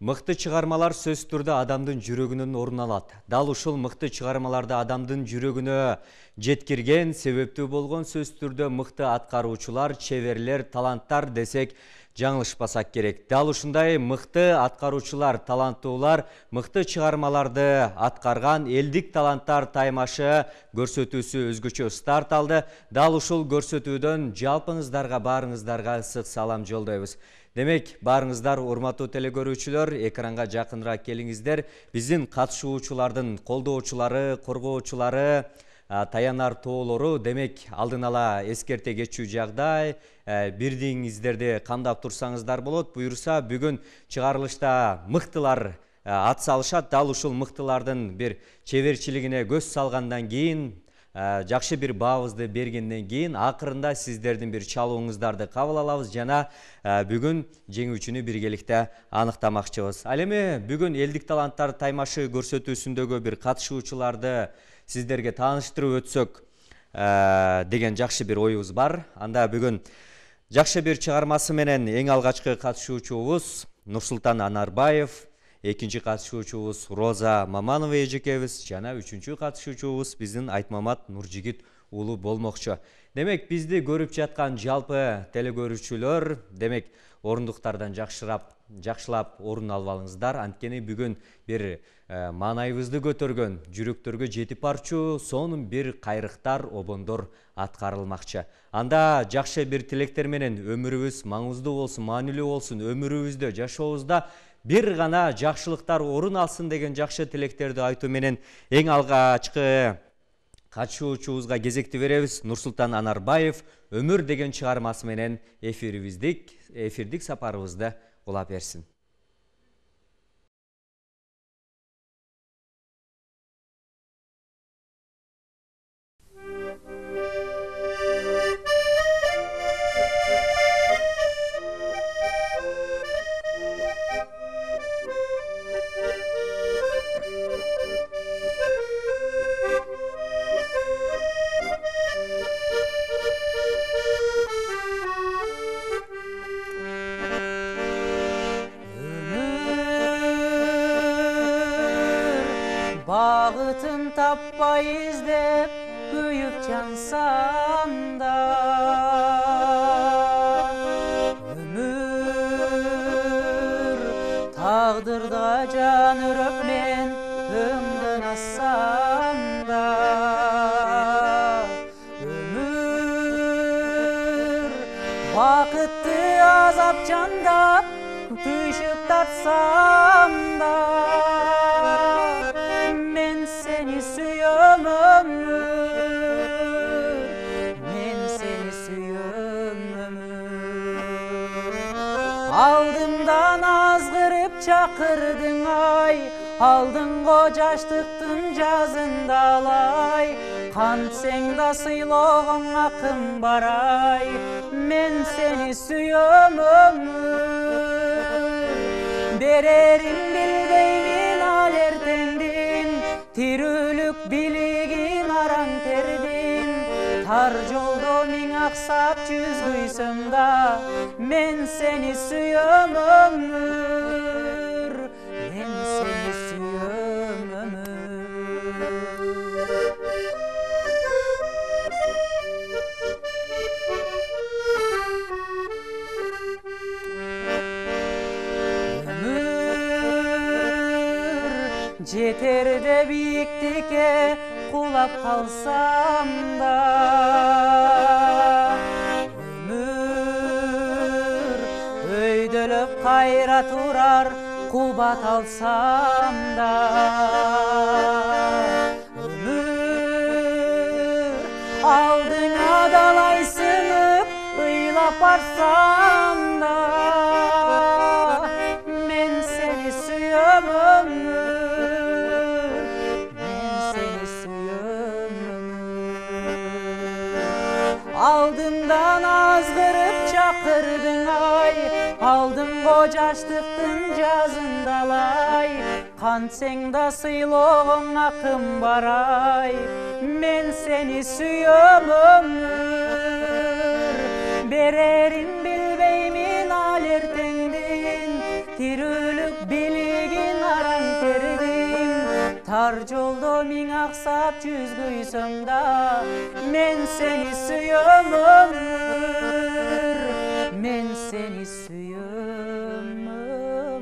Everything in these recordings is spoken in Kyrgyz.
Мыкты чыгармалар сөз түрдө адамдын жүрөгүнөн орун алат. Дал ушул мыкты чыгармаларды адамдын жүрөгүнө жеткирген, себептүү болгон сөз түрдө мыкты аткаруучулар, чеберлер, таланттар десек жаңылышпасак керек. Дал ушундай мыкты аткаруучулар, таланттуулар мыкты чыгармаларды аткарган элдик таланттар таймашы көрсөтүүсү өзгөчө старт алды. Дал ушул көрсөтүүдөн жалпыңыздарга, баарыңыздарга ысык салам жолдойбуз. Демек, барыңыздар, урматтуу телекөрүүчүлөр, экранга жакыныраак келиңиздер. Биздин катышуучулардын колдоочулары, коргоочулары, таянар тоолору, демек, алдын ала эскерте кетчү жагдай, бирдиңиздерди камдап турсаңыздар болот. Буюрса, бүгүн чыгарылышта мыктылар ат салышат. Дал ушул мыктылардын бир чеберчилигине көз салгандан кийин, жакшы бир баабызды бергенден кийин акырында сиздердин бир чалууңуздарды кабыл алабыз жана бүгүн жеңүүчүнү биргеликте аныктамакчыбыз. Ал эми бүгүн элдик таланттар таймашы көрсөтүүсүндөгү бир катышуучуларды сиздерге тааныштырып өтсөк деген жакшы бир оюбуз бар. Анда бүгүн жакшы бир чыгармасы менен эң алгачкы катышуучубуз Нурсултан Анарбаев, экинчи катышуучубуз Роза Маманова эжекебиз жана үчүнчү катышуучубуз биздин Айтмамат Нуржигит уулу болмокчу. Демек, бизди көрүп жаткан жалпы телекөрүүчүлөр, демек, орундуктардан жакшылап орун алып алыңыздар. Анткени бүгүн бир маанайыбызды көтөргөн, жүрөктөргө жетип барчу сонун бир кайрыктар, обондор аткарылмакчы. Анда жакшы бир тилектер менен өмүрүбүз маңыздуу болсун, маанилүү болсун, өмүрүбүздө, жашообузда бир гана жакшылыктар орун алсын деген жакшы тилектерди айтуу менен эң алгачкы катышуучубузга кезекти беребиз. Нурсултан Анарбаев «Өмүр» деген чыгармасы менен эфирдик сапарыбызды улап берсин. Багытын таппай издеп күйүп жансам да, өмүр тагдырда жан үрөп мен өңдөн ассам да, өмүр бакытты азап жандап түйшүк тартсам да, алдымдан азгырып чакырдың ай, алдыңго жаштыктын жазында алай, кантсең да сыйлогоң акым барай, мен сени сүйөм өмүр, берерин билбеймин ал эртеңдин, тирүүлүк билигин араң тердин, тар жолдо миң аксап жүз күйсөм да, мен сени сүйөм өмүр, мен сени сүйөм өмүр. Өмүр жетерде бийиктикке кулап калсам да, кайра турар кубат алсам да, өмүр алдыңа далай сынып ыйлап барсам да, мен сени сүйөм өмүр, мен сени сүйөм өмүр, алдымдан азгырып чакырдың ай, алдыңго жаштыктын жазында алай, кантсең да сыйлогоң акым барай, мен сени сүйөм өмүр, берерин билбеймин ал эртеңдин, тирүүлүк били тар жолдо миң аксап жүзгөйсөм да, мен сени сүйөм өмүр, мен сени сүйөм өмүр.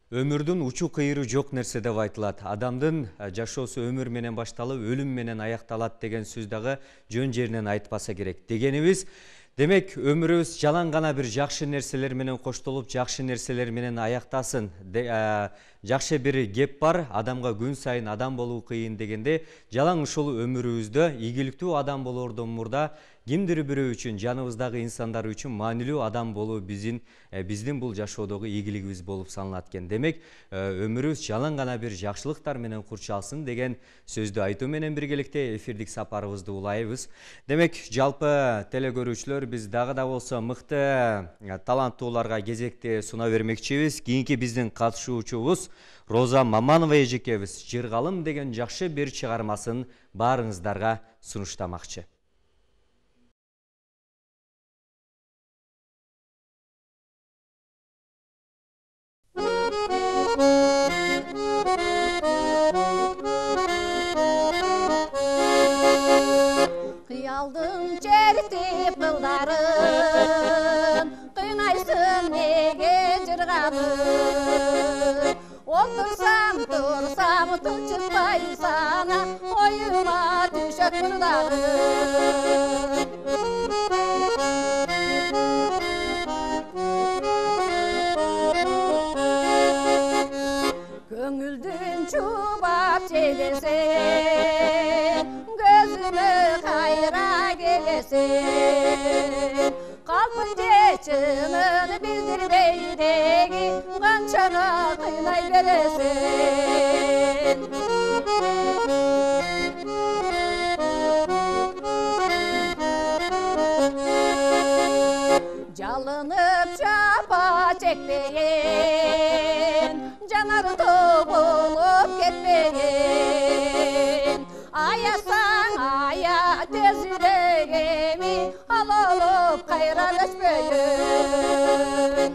Өмүрдүн учу кыйыры жок нерсе деп айтылат. Адамдын жашоосу өмүр менен башталып, өлүм менен аякталат деген сөз дагы жөн жеринен айтпаса керек. Дегенибиз, демек өмүрүбүз жалаң гана бир жакшы нерселер менен коштолуп, жакшы нерселер менен аяктасын. Жакшы бир кеп бар, адамга күн сайын адам болуу кыйын дегенде, жалаң ушул өмүрүбүздө ийгиликтүү адам болоордон мурда кимдир бирөө үчүн, жаныбыздагы инсандар үчүн маанилүү адам болуу биздин бул жашоодогу ийгилигибиз болуп саналат экен. Демек, өмүрүбүз жалаң гана бир жакшылыктар менен курчалсын деген сөздү айтуу менен биргеликте эфирдик сапарыбызды улайбыз. Демек, жалпы телекөрүүчүлөр, биз дагы да болсо мыкты таланттууларга кезекти суна бермекчибиз. Кийинки биздин катышуучубуз Роза Маманова эжекебиз «Жыргалым» деген жакшы бир чыгармасын баарыңыздарга сунуштамакчы. Кыялдың чертип кылдарын, кыйнайсың неге жыргалым? Отурсам, турсам, тынчытпай сана, оюма түшөт мурдагым. Көңүлдүн чубап желесен, gözüme kayra gelesin. Kalpın geçinin bildirmeydeki kançana kıynay veresin. Çalınıp çapa çekmeyin, canarı bulup ketmeyin. Ayasan aya tez yüreğimi al olup kayra düşmeyin.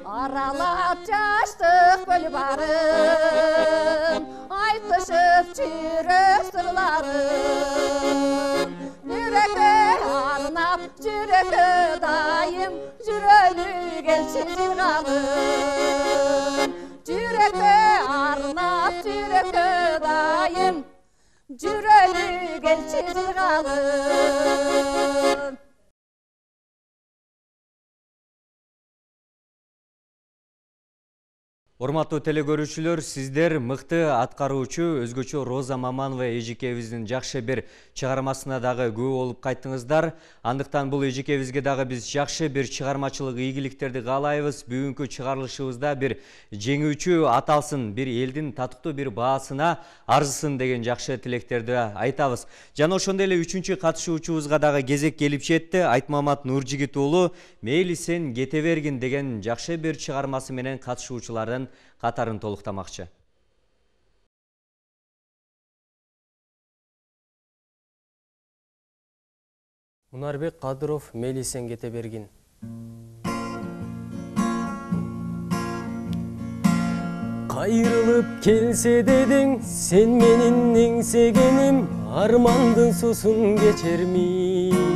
Aralap çaştık göl barın, aytışıp çürük sırlarım. Yürek'e arnap, yürek'e dayım, jürölü gelsin jırgalım. Yürek'e arnap, yürek'e dayım, jürölü gelsin jırgalım. Урматтуу телекөрүүчүлөр, сиздер мыкты аткаруучу өзгөчө Роза Маманова эжекебиздин жакшы бир чыгармасына дагы күбө болуп кайттыңыздар. Андыктан бул эжекебизге дагы биз жакшы бир чыгармачылык ийгиликтерди каалайбыз. Бүгүнкү чыгарылышыбызда бир жеңүүчү аталсын, бир элдин татыктуу бир баасына арзысын деген жакшы тилектерди айтабыз. Жана ошондой эле 3-чү катышуучубузга дагы кезек келип жетти. Айтмамат Нуржигит уулу «Мейли сен кете бергин» деген жакшы бир чыгармасы менен катышуучулардын катарын толуктамакчы. Мунарбек Кадыров «Мейли сен кете бергин». Кайрылып келсе дедиң, сен менин эңсегеним, армандын сусун кечермин.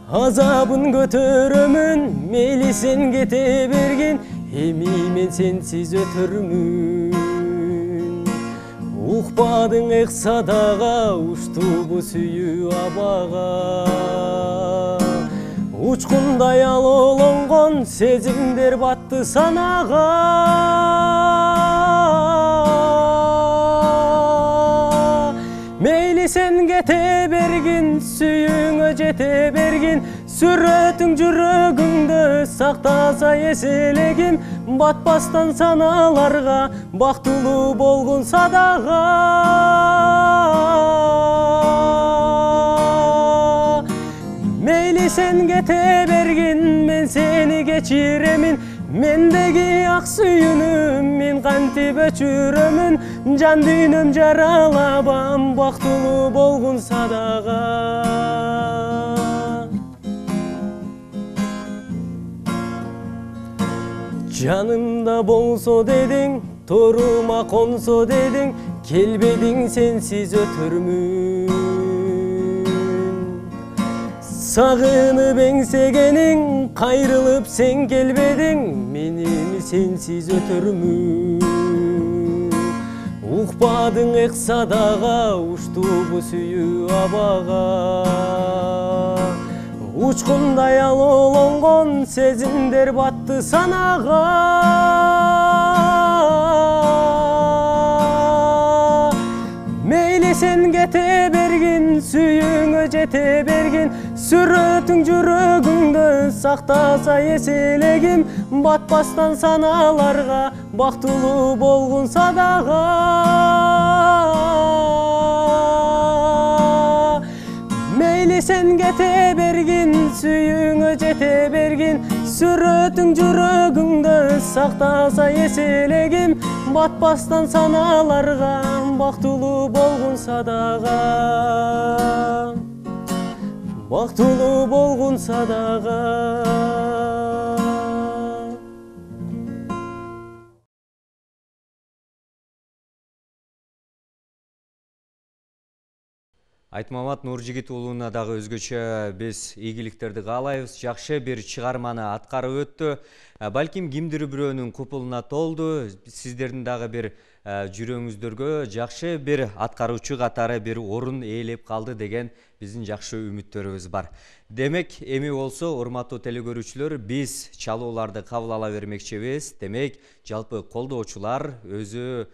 Азабын көтөрөмүн, мейли сен кете бергин, эми мен сенсиз өтөрмүн. Укпадың эк садага, ушту бу сүйүү абага. Учкундай алоолонгон сезимдер батты санага. Мейли сен кете бергин, сүйүүңө жете бергин, сүрөтүң жүрөгүңдө сактаса эселегим, батпастан саналарга бактылуу болгон садага. Мейли сен кете бергин, мен сени кечиремин, Мендеги ак сүйүнүм мен кантип өчүрөмүн, жан дүйнөм жаралабам, бактылуу болгунса дагы. Жанымда болсо дедиң, торума консо дедиң, келбедиң сенсиз өтөрмүн. Сагынып эңсегениң, кайрылып сен келбедиң, менин сенсиз өтөрмүн. Укпадың эксадага, уштубу сүйүү абага. Учкундай алоолонгон сезимдер батты санага. Мейли сен кете бергин, сүйүүңө жете бергин, сүрөтүң жүрөгүңдө сактаса эселегим, батпастан саналарга, бактылуу болгунса дагы. Мейли сен кете бергин, сүйүүңө жете бергин, сүрөтүң жүрөгүңдө сактаса эселегим, батпастан саналарга, бактылуу болгунса дагы. Бактылуу болгунса дагы. Айтмамат Нуржигит уулуна дагы өзгөчө биз ийгиликтерди каалайбыз. Жакшы бир чыгарманы аткарып өттү. Балким кимдир бирөөнүн купулуна толду. Сиздердин дагы бир жүрөгүңүздөргө жакшы бир аткаруучу катары бир орун ээлеп калды деген биздин жакшы үмүттөрүбүз бар. Демек, эми болсо урматтуу телекөрүүчүлөр, биз чалууларды кабыл ала бермекчибиз. Демек, жалпы колдоочулар өзү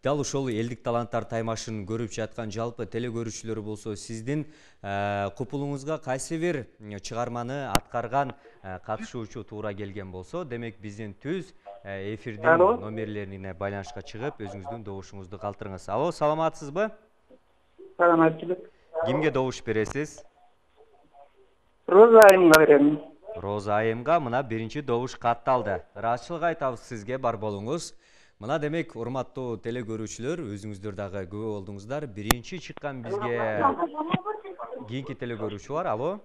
дал ошол элдик таланттар таймашын көрүп жаткан жалпы телекөрүүчүлөр болсо, сиздин купулуңузга кайсы бир чыгарманы аткарган катышуучу туура келген болсо, демек биздин түз эфирдин номерлерине байланышка чыгып, өзүңүздүн добушуңузду калтырыңыз. Алло, саламатсызбы? Саламатчылык. Кимге добуш бересиз? Роза айымга берем. Роза айымга мына биринчи добуш катталды. Ыраазычылык айтабыз сизге, бар болуңуз. Мына демек, урматтуу телекөрүүчүлөр, өзүңүздөр дагы күбө болдуңуздар. Биринчи чыккан бизге кийинки телекөрүүчү бар. Алло.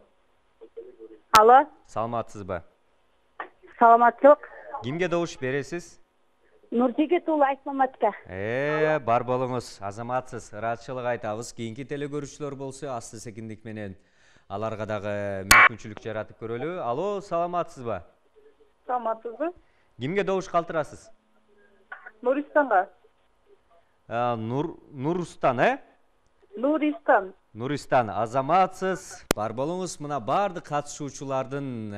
Алло. Саламатсызбы? Саламатчылык. Кимге добуш бересиз? Нуржигит уулу Айтмаматка. Бар болуңуз, азаматсыз. Ыраазычылык айтабыз. Кийинки телекөрүүчүлөр болсо, асты секиндик менен аларга дагы мүмкүнчүлүк жаратып көрөлү. Алло, саламатсызбы? Саламатсызбы? Кимге добуш калтырасыз? Нуристанга. Нурустан, Нуристан. Нуристан, азаматсыз. Бар болуңуз. Мына бардык катышуучулардын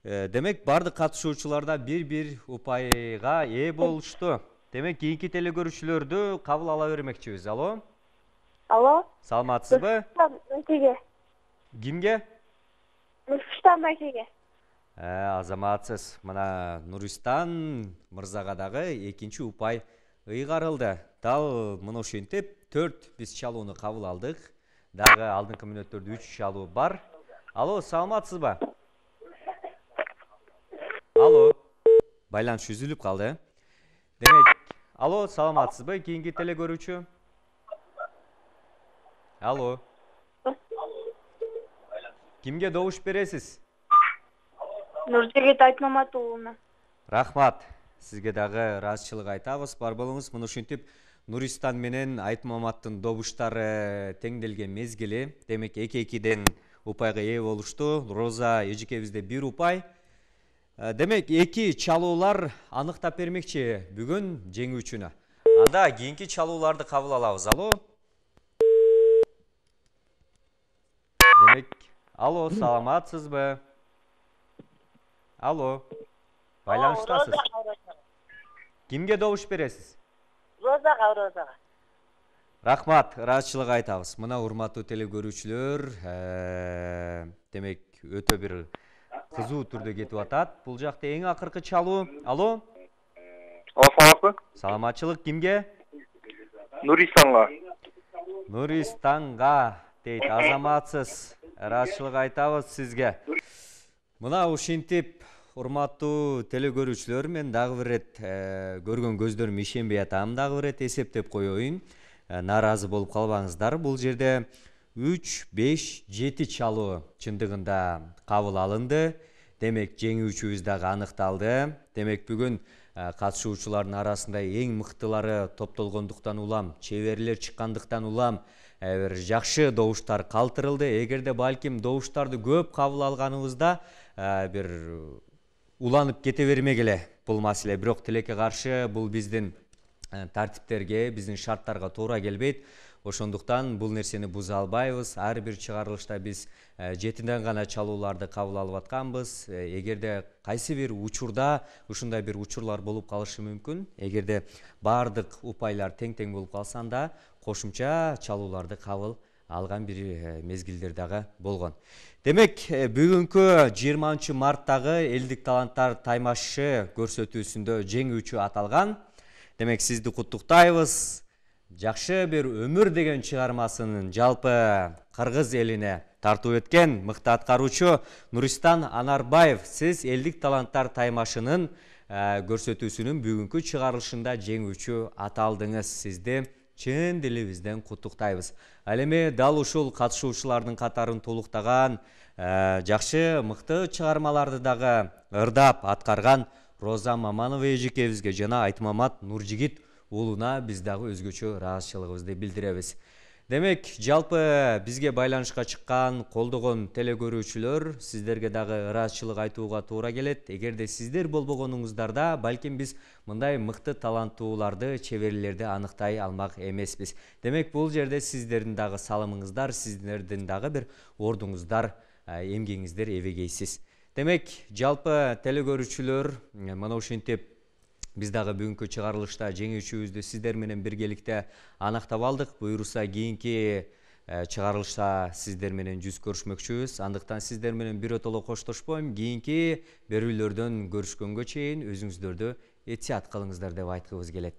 демек, бардык катышуучуларда бир упайга ээ болушту. Демек, кийинки телекөрүүчүлөрдү кабыл ала бермекчибиз. Алло. Алло. Саламатсызбы? Нуржигит. Кимге? Нурфуштан байкеге. Азаматсыз. Мына Нуристан мырзага дагы экинчи упай ыйгарылды. Дал мына ошентип 4 биз чалууну кабыл алдык. Дагы алдыңкы мүнөттөрдө 3 чалуу бар. Алло, саламатсызбы? Алло. Байланыш үзүлүп калды. Демек, алло, саламатсызбы? Кийинки телекөрүүчү? Алло. Кимге добуш бересиз? Нуржигит Айтмамат уулуна. Рахмат. Сизге дагы ыраазычылык айтабыз. Бар болуңуз. Мына ушинтип Нуристан менен Айтмаматтын добуштары теңделген мезгили. Демек, 2-2-ден упайга ээ болушту. Роза эжекебизде 1 упай. Демек, 2 чалуулар аныктап бермекчи бүгүн жеңүүчүнү. Анда кийинки чалууларды кабыл алабыз. Алло. Демек, алло, саламатсызбы? Алло. Байланыштасыз. Кимге добуш бересиз? Розага. Рахмат, ыраазычылык айтабыз. Мына урматтуу телекөрүүчүлөр, демек, өтө бир кызуу түрдө кетип атат. Бул жакта эң акыркы чалуу. Алло. Саламатсызбы? Саламатчылык кимге? Нуристанга. Нуристанга дейт, азаматсыз. Ыраазычылык айтабыз сизге. Мына ушинтип урматтуу телекөрүүчүлөр, мен дагы бир ирет көргөн көздөрүм ишенбей атам, дагы бир ирет эсептеп коеюн. Нааразы болуп калбаңыздар. Бул жерде 3, 5, 7 чалуу чындыгында кабыл алынды. Демек жеңүүчүбүз дагы аныкталды. Демек бүгүн катышуучулардын арасында эң мыктылары топтолгондуктан улам, чеберлер чыккандыктан улам бир жакшы добуштар калтырылды. Эгерде балким добуштарды көп кабыл алганыбызда бир уланып кете бермегиле бул маселе. Бирок тилекке каршы бул биздин тартиптерге, биздин шарттарга туура келбейт. Ошондуктан бул нерсени буза албайбыз. Ар бир чыгарылышта биз жетиден гана чалууларды кабыл алып атканбыз. Эгерде кайсы бир учурда ушундай бир учурлар болуп калышы мүмкүн. Эгерде бардык упайлар тең-тең болуп калса, анда кошумча чалууларды кабыл алган бир мезгилдер дагы болгон. Демек, бүгүнкү 20 марттагы элдик таланттар таймашы көрсөтүүсүндө жеңүүчү аталган. Демек, сизди куттуктайбыз. Жакшы бир өмүр деген чыгармасын жалпы кыргыз элине тартуу эткен мыкты аткаруучу Нуристан Анарбаев, сиз элдик таланттар таймашынын көрсөтүүсүнүн бүгүнкү чыгарылышында жеңүүчү аталдыңыз. Сизди чын дилибизден куттуктайбыз. Ал эми дал ушул катышуучулардын катарын толуктаган жакшы мыкты чыгармаларды дагы ырдап аткарган Роза Маманова эжекебизге жана Айтмамат Нуржигит уулуна биз дагы өзгөчө ыраазычылыгыбызды билдиребиз. Демек, жалпы бизге байланышка чыккан, колдогон телекөрүүчүлөр, сиздерге дагы ыраазычылык айтууга туура келет. Эгерде сиздер болбогонуңуздарда, балким биз мындай мыкты таланттууларды, чеберлерди аныктай алмак эмеспиз. Демек, бул жерде сиздердин дагы салымыңыздар, сиздердин дагы бир ордуңуздар, эмгегиңиздер эбегейсиз. Демек, жалпы телекөрүүчүлөр, мына ушинтип биз дагы бүгүнкү чыгарылышта жеңүүчүбүздү сиздер менен биргеликте анактап алдык. Буюрса кийинки чыгарылышта сиздер менен жүз көрүшмөкчүбүз. Андыктан сиздер менен биротоло коштошпойм. Кийинки берүүлөрдөн көрүшкөнгө чейин өзүңүздөрдү этият кылыңыздар деп айткыбыз келет.